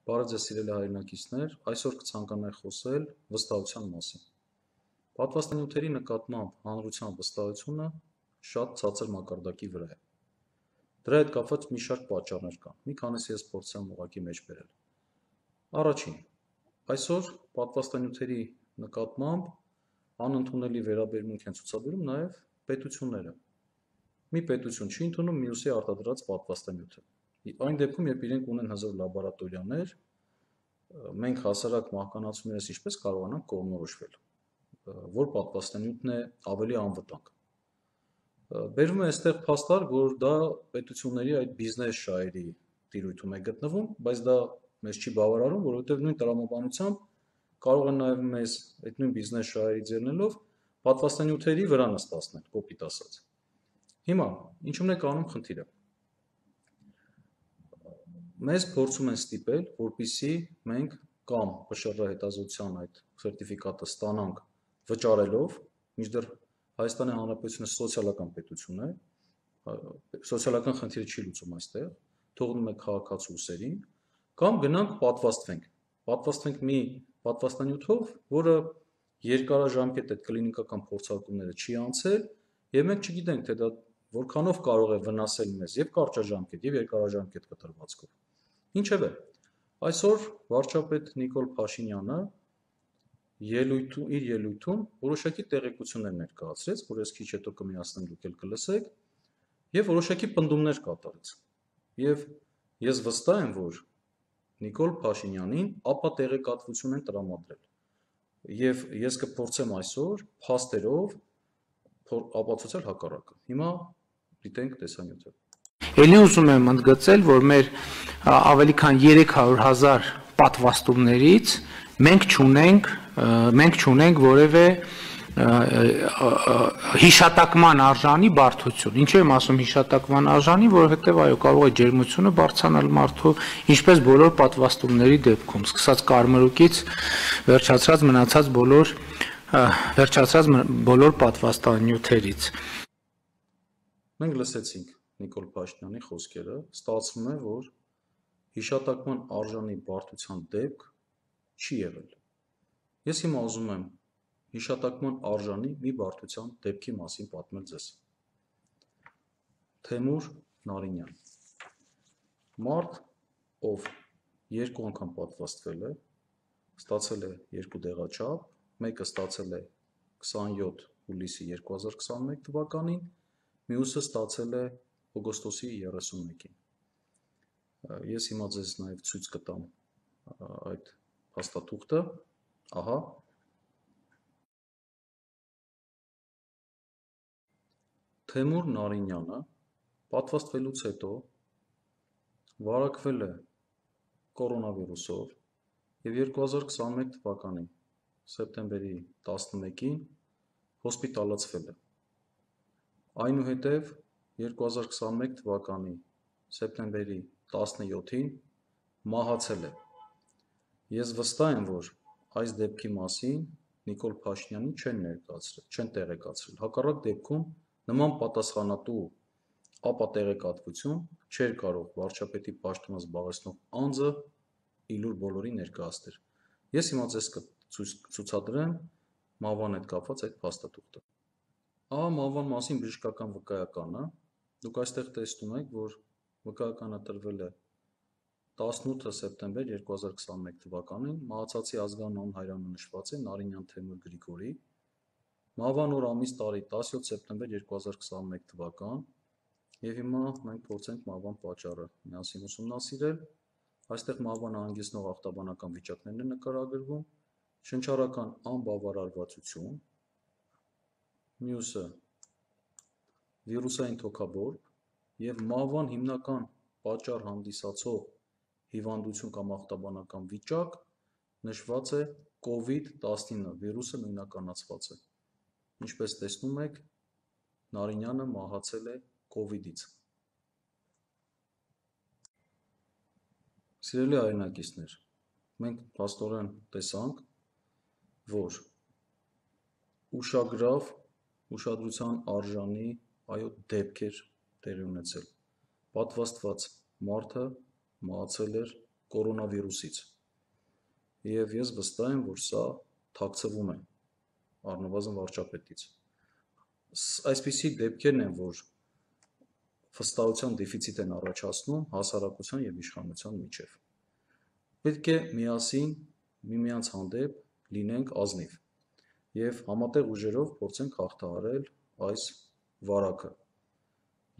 Բարև ձեզ սիրելի հայրենակիցներ, այսօր կցանկանայի խոսել վստահության մասին։ Պատվաստանյութերի նկատմամբ հանրության վստահությունը շատ ցածր մակարդակի վրա է։ Դրա հետ կապված մի շարք պատճառներ կան, մի քանիսը ես փորձեմ ուղղակի մեջ բերել։ Առաջին, այսօր պատվաստանյութերի նկատմամբ անընդունելի վերաբերմունք են ցուցաբերում նաև պետությունները։ Մի պետություն չի ընդունում մյուսի արտադրած պատվաստանյութը։ Այն դեպքում, երբ իրենք ունեն հզոր լաբորատորիաներ, մենք հասարակ մահկանացուներս ինչպես կարողանանք կողմնորոշվել, որ պատվաստանյութն է ավելի անվտանգ։ Բերվում է այստեղ փաստարկ, որ դա պետությունների այդ բիզնես շահերի տիրույթում է գտնվում, բայց դա մեզ չի բավարարում, որովհետև նույն տրամաբանությամբ կարող են նաև մեզ այդ նույն բիզնես շահերի ձեռնելով պատվաստանյութերի վրա նստացնել, կոպիտ ասած։ Հիմա, ինչու՞մն է կանում խնդիրը։ Մեզ փորձում են ստիպել, որպեսզի մենք կամ ՊՇՌ հետազոտության այդ սերտիֆիկատը ստանանք վճարելով, մինչդեռ Հայաստանի Հանրապետությունը սոցիալական պետություն է, սոցիալական խնդիրը չի լուծում այստեղ, թողնում է քաղաքացու ուսերին, կամ գնանք պատվաստվենք մի պատվաստանյութով, որը երկարաժամկետ այդ կլինիկական փորձարկումները չի անցել, եւ մենք չգիտենք, թե դա որքանով կարող է վնասել մեզ եւ կարճաժամկետ եւ երկարաժամկետ կտրվածքով։ Ինչևէ, այսօր վարչապետ Նիկոլ Փաշինյանը իր ելույթում որոշակի տեղեկություններ ներկայացրեց, որ ես քիչ հետո կմիացնեմ, դուք էլ կլսեք, եւ որոշակի պնդումներ կատարեց։ Եվ ես վստահ եմ, որ Նիկոլ Փաշինյանին ապա տեղեկատվություն են տրամադրել։ Եվ ես կփորձեմ այսօր փաստերով ապացուցել հակառակը։ Հիմա դիտենք տեսանյութը։ Էլի ուզում եմ ընդգծել, որ մեր ավելի քան 300,000 պատվաստումներից մենք չունենք որևէ հիշատակման արժանի բարդություն։ Ինչու եմ ասում հիշատակման արժանի, որովհետև այո, կարող է ջերմությունը բարձրանալ մարդու, ինչպես բոլոր պատվաստումների դեպքում, սկսած կարմրուկից վերջացած բոլոր պատվաստանյութերից։ Մենք լսեցինք Նիկոլ Փաշինյանի խոսքերը, ստացվում է, որ հիշատակման արժանի բարդության դեպք չի եղել։ Ես հիմա ուզում եմ հիշատակման արժանի մի բարդության դեպքի մասին պատմել ձեզ։ Թեմուր Նարինյան, մարդ, ով 2 անգամ պատվաստվել է, ստացել է 2 դեղաչափ, մեկը ստացել է 27 հուլիսի 2021 թվականին, մյուսը ստացել է օգոստոսի 31-ին։ Ես հիմա ձեզ նաև ցույց կտամ այդ փաստաթուղթը, ահա։ Թեմուր Նարինյանը պատվաստվելուց հետո վարակվել է կորոնավիրուսով եւ 2021 թվականի սեպտեմբերի 11-ին հոսպիտալացվել է։ Այնուհետև 2021 թվականի սեպտեմբերի 17-ին մահացել է։ Ես վստահ եմ, որ այս դեպքի մասին Նիկոլ Փաշինյանին չեն տեղեկացրել։ Հակառակ դեպքում նման պատասխանատու ապատեղեկատվություն չէր կարող վարչապետի պաշտոնը զբաղեցնող անձը իլուր բոլորի ներկայացնել։ Ես հիմա ձեզ կցուցադրեմ մահվան հետ կապված այդ փաստաթուղթը։ Ահա մահվան մասին բժշկական վկայականը։ Դուք այստեղ տեսնում եք, որ վկայականը տրվել է 18 սեպտեմբեր 2021 թվականին, մահացածի ազգանուն հայրանը նշված է Նարինյան Թեմուր Գրիգորի, մահվան օր ամիս տարի 17 սեպտեմբեր 2021 թվական, եւ հիմա մենք փորձենք մահվան պատճառը միասին ուսումնասիրել։ Այստեղ մահվանը հանգեցնող ախտաբանական վիճակներն են նկարագրվում, շնչառական անբավարարվածություն, մյուսը վիրուսային թոքաբորբ եւ մահվան հիմնական պատճառ հանդիսացող հիվանդություն կամ ախտաբանական վիճակ նշված է COVID-19 վիրուսը նույնականացված է։ Ինչպես տեսնում եք, Նարինյանը մահացել է COVID-ից։ Սիրելի հայրենակիցներ, մենք փաստորեն տեսանք, որ ուշագրավ, ուշադրության արժանի դեպք էր տեղի ունեցել։ Պատվաստված մարդը մահացել էր կորոնավիրուսից։ Եվ ես վստահ եմ, որ սա թաքցվում է առնվազն վարչապետից։ Այսպիսի դեպքերն են, որ վստահության դեֆիցիտ են առաջացնում հասարակության և իշխանության միջև։ Պետք է միասին միմյանց հանդեպ լինենք ազնիվ և համատեղ ուժերով փորձենք հաղթահարել այս վարակը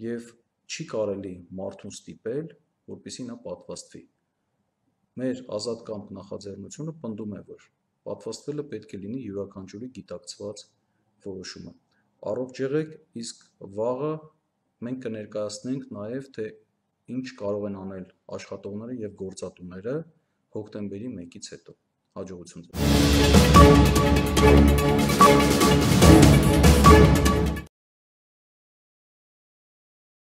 և չի կարելի մարդուն ստիպել, որպեսզի նա պատվաստվի։ Մեր ազատ կամք նախաձեռնությունը պնդում է, որ պատվաստվելը պետք է լինի յուրաքանչյուրի գիտակցված որոշումը։ Առողջ եղեք, իսկ վաղը մենք կներկայացնենք նաև, թե ինչ կարող են անել աշխատողները և գործատուները հոկտեմբերի 1-ից հետո։ Հաջողություն ձեզ։